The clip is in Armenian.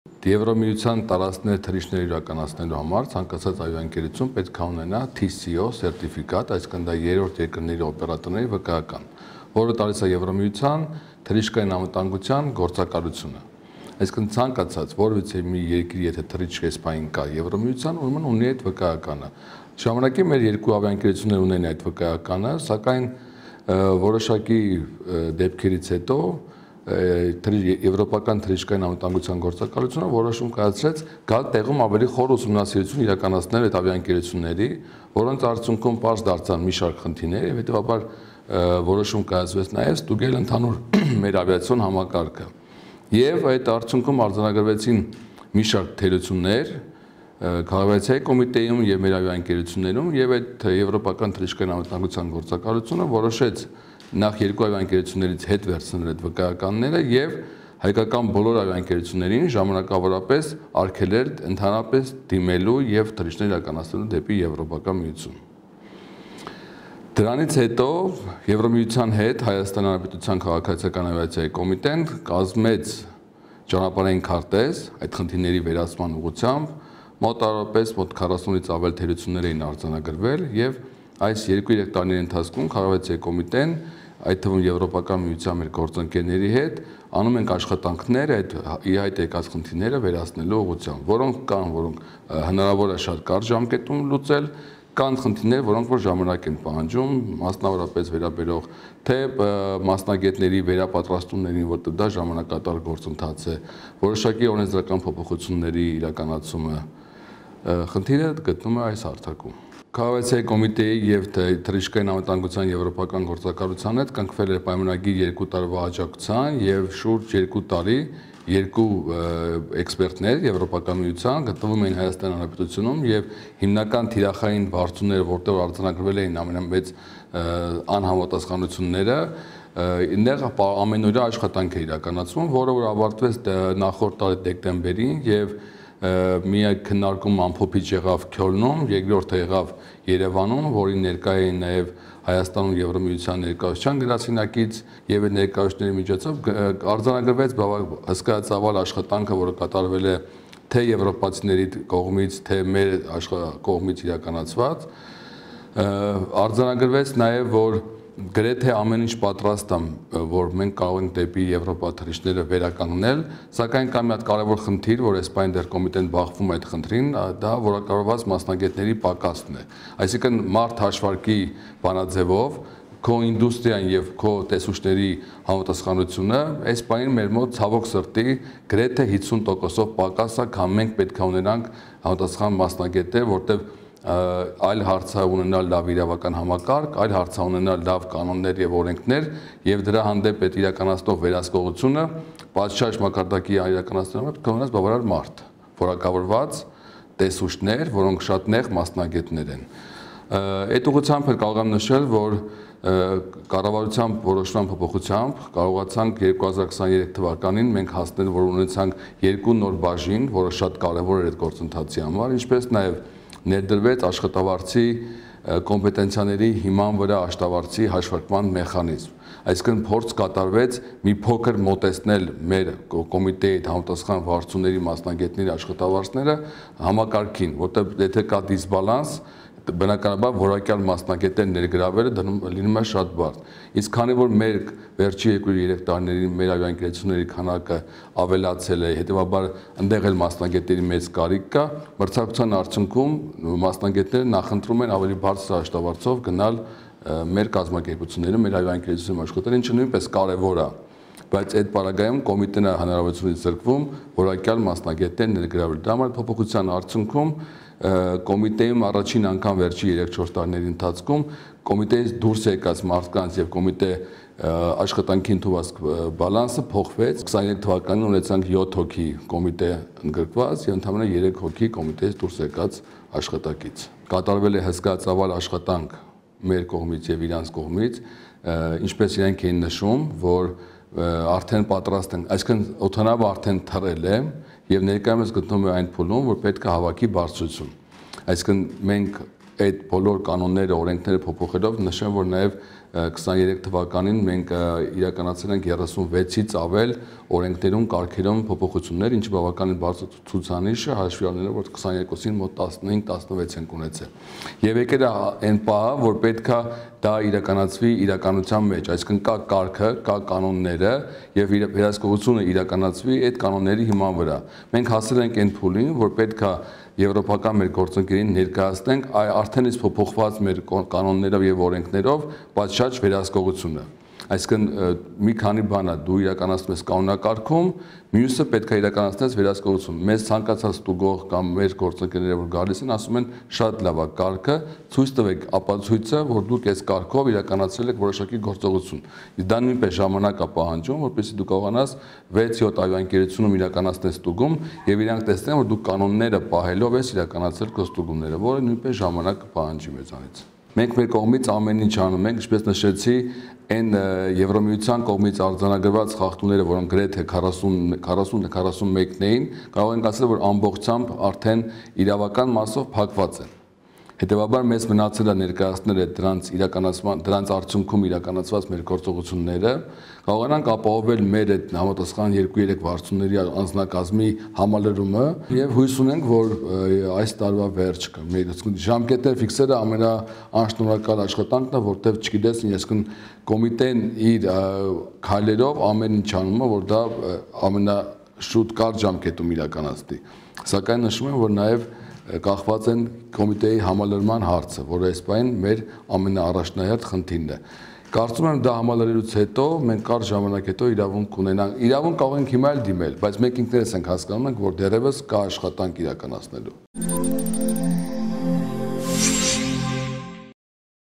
Եվրոմիության տարածքներ թռիչքներ իրականացնելու համար ցանկացած ավիաընկերություն պետք է ունենա TCO սերտիֆիկատ, այսինքն դա երրորդ երկրների օպերատորների վկայական, որը տալիս է Եվրոմիության թռիչքային անվտանգության գործակալությունը։ Այսինքն ցանկացած որևէ մի երկրի եթե թռիչք էսպային կա Եվրոմիության, ուրեմն ունի այդ վկայականը։ Ժամանակի մեր երկու ավիաընկերություններ ունեն այդ վկայականը, սակայն որոշակի դեպքերից հետո Եվրոպական թռիչքային անվտանգության գործակալությունը որոշում կայացրեց գալ տեղում ավելի խոր ուսումնասիրություն իրականացնել այդ ավիաընկերությունների, որոնց արդյունքում պարզ դարձան մի շարք խնդիրներ եւ հետեւաբար որոշում կայացվեց նաեւ ստուգել ընդհանուր մեր ավիացիոն համակարգը։ Եվ այդ արդյունքում արձանագրվեցին մի շարք թերություններ Քաղաքացիական կոմիտեում եւ մեր ավիաընկերություններում եւ այդ Եվրոպական թռիչքային անվտանգության գործակալությունը որոշեց նախ երկու ավիաընկերություններից հետ վերցնել այդ վկայականները եւ հայկական բոլոր ավիաընկերություններին ժամանակավորապես արգելել ընդհանրապես դիմելու եւ թռիչքներ իրականացնելու դեպի Եվրոպական միություն։ Դրանից հետո Եվրոմիության հետ Հայաստան Հանրապետության քաղաքացիական ավիացիայի կոմիտեն կազմեց ճանապարհային քարտեզ այդ խնդիրների վերացման ուղղությամբ մոտավորապես մոտ 40-ից ավել թերություններ էին արձանագրվել եւ այս 2-3 տարիների ընթացքում քաղաքացիական կոմիտեն այդ թվում Եվրոպական միության մեր գործընկերների հետ անում ենք աշխատանքներ այդ իհայտ եկած խնդիրները վերացնելու ուղղությամբ, որոնք կան, որոնք հնարավոր է շատ կարճ ժամկետում լուծել, կան խնդիրներ, որոնք որ ժամանակ են պահանջում, մասնավորապես վերաբերող թե մասնագետների վերապատրաստումներին, որտեղ դա ժամանակատար գործընթաց է, որոշակի օրենսդրական փոփոխությունների իրականացումը, խնդիրը գտնվում է այս հարթակում։ Քաղաքացիական կոմիտեի եւ թռիչքային անվտանգության եվրոպական գործակալության հետ կնքվել էր պայմանագիր 2 տարվա աջակցության եւ շուրջ 2 տարի երկու էքսպերտներ Եվրոպական միության գտնվում էին Հայաստան Հանրապետությունում եւ հիմնական թիրախային բարձունները, որտեղ արձանագրվել էին ամենամեծ անհամապատասխանությունները, այնտեղ ամենօրյա աշխատանք է իրականացվում, որը որ ավարտվեց նախորդ տարի դեկտեմբերին եւ մի քննարկում ամփոփիչ եղավ Քյոլնում, երկրորդը եղավ Երևանում, որին ներկա էին նաև Հայաստանում Եվրոմիության ներկայացության գրասենյակից եւ այդ ներկայացների միջոցով արձանագրվեց հսկայածավալ աշխատանքը, որը կատարվել է թե եվրոպացիների կողմից, թե մեր կողմից իրականացված, արձանագրվեց նաև, որ գրեթե ամեն ինչ պատրաստ է, որ մենք կարող ենք դեպի Եվրոպա թռիչքները վերականգնել, սակայն կա մի հատ կարևոր խնդիր, որ էսպայն դեռ կոմիտեն բախվում է այդ խնդրին, դա որակավորված մասնագետների պակասն է։ Այսինքն մարդ հաշվարկի բանաձևով քո ինդուստրիան եւ քո տեսուչների համապատասխանությունը էսպայն մեր մոտ ցավոք սրտի գրեթե 50%-ով պակաս է, քան մենք պետք է ունենանք համապատասխան մասնագետներ, որտեղ այլ հարցը ունենալ լավ իրավական համակարգ, այլ հարցը ունենալ լավ կանոններ եւ օրենքներ եւ դրա հանդեպ այդ իրականացնող վերահսկողությունը պատշաճ մակարդակի իրականացնելու պետք է ունենալ բավարար մարդ, որակավորված տեսուչներ, որոնք շատ նեղ մասնագետներ են։ Այդ ուղղությամբ կարող եմ նշել, որ կառավարության որոշման փոփոխությամբ կարողացանք 2023 թվականին մենք հասնել, որ ունեցանք երկու նոր բաժին, որը շատ կարևոր էր այդ գործընթացի համար, ինչպես նաեւ ներդրվեց աշխատավարձի կոմպետենցիաների հիման վրա աշխատավարձի հաշվարկման մեխանիզմ։ Այսինքն փորձ կատարվեց մի փոքր մոտեցնել մեր կոմիտեի համապատասխան վարձուների մասնագետների աշխատավարձները համակարգին, որտեղ եթե կա դիսբալանս, բնականաբար որակյալ մասնագետներ ներգրավելը լինում է շատ բարդ։ Իսկ քանի որ մեր վերջի 2-3 տարիներին մեր ավիաընկերությունների քանակը ավելացել է, հետեւաբար այնտեղ էլ մասնագետների մեծ կարիք կա, մրցակցության արդյունքում մասնագետները նախընտրում են ավելի բարձր աշխատավարձով գնալ մեր կազմակերպություններում, մեր ավիաընկերություններում աշխատել, ինչը նույնպես կարևոր է։ Բայց այդ պարագայում կոմիտեն է հնարավորությունից զրկվում որակյալ մասնագետներ ներգրավել։ Դա համար փոփոխության արդյունքում կոմիտեում առաջին անգամ վերջի 3-4 տարիների ընթացքում կոմիտեից դուրս եկած մարդկանց եւ կոմիտե աշխատանքի ընդունված բալանսը փոխվեց։ 23 թվականին ունեցանք 7 հոգի կոմիտե ընդգրկված եւ ընդհանրապես 3 հոգի կոմիտեից դուրս եկած աշխատակից։ Կատարվել է հսկայածավալ աշխատանք մեր կողմից եւ իրանց կողմից, ինչպես իրենք էին նշում, որ արդեն պատրաստ են, այսինքն օդանավը արդեն թռել է եւ ներկայումս գտնվում է այն փուլում, որ պետք է հավաքի բարձրություն։ Այսինքն մենք այդ բոլոր կանոնները, օրենքները փոփոխելով նշեմ, որ նաեւ 23 թվականին մենք իրականացրել ենք 36-ից ավել օրենքներում, կարգերում փոփոխություններ, ինչը բավականին բարձր ցուցանիշ է, հաշվի առնելով, որ 22-ին մոտ 15-16 ենք ունեցել։ Եվ եկել է այն պահը, որ պետք է դա իրականացվի իրականության մեջ, այսինքն կա կարգը, կա կանոնները եւ վերահսկողությունը իրականացվի այդ կանոնների հիման վրա։ Մենք հասել ենք այն փուլին, որ պետք է եվրոպական մեր գործընկերին ներկայացնենք արդեն իսկ փոփոխված մեր կանոններով եւ օրենքներով պատշաճ վերահսկողությունը։ Այսինքն մի քանի բան է դու իրականացնում ես կանոնակարգում, մյուսը պետք է իրականացնես վերահսկողություն։ Մեզ ցանկացած ստուգող կամ մեր գործընկերները որ գալիս են, ասում են շատ լավ է կարգը, ցույց տվեք ապացույցը, որ դուք այս կարգով իրականացրել եք որոշակի գործողություն։ Իսկ դա նույնպես ժամանակ է պահանջում, որպեսզի դու կարողանաս 6-7 ավիաընկերությունում իրականացնես ստուգում եւ իրանք տեսնեն, որ դու կանոնները պահելով ես իրականացրել քո ստուգումները, որը նույնպես ժամանակ կպահանջի մեզանից։ Մենք մեր կողմից ամեն ինչ անում ենք, ինչպես նշեցի, այն Եվրոմիության կողմից արձանագրված խախտումները, որոնք գրեթե 40-41-ն էին, կարող ենք ասել, որ ամբողջությամբ արդեն իրավական մասով փակված են։ Հետևաբար մեզ մնացել է ներկայացնել դրանց արդյունքում իրականացված մեր գործողությունները, կարողանանք ապահովել մեր այդ համապատասխան 2-3 վարձունների անձնակազմի համալրումը եւ հույս ունենք, որ այս տարվա վերջ մեր ժամկետներ ֆիքսելը ամենաանշնորհակալ աշխատանքն է, որտեղ չգիտես, այսինքն կոմիտեն իր քայլերով ամեն ինչ անում է, որ դա ամենաշուտ կարճ ժամկետում իրականացնի։ Սակայն նշում եմ, որ նաեւ կախված են կոմիտեի համալրման հարցը, որը այս պահին մեր ամենաառաջնահերթ խնդիրն է։ Կարծում եմ դա համալրելուց հետո մենք կարճ ժամանակ հետո իրավունք ունենանք։ Իրավունք կարող ենք հիմա էլ դիմել, բայց մենք ինքներս ենք հասկանում, որ դեռևս կա աշխատանք իրականացնելու։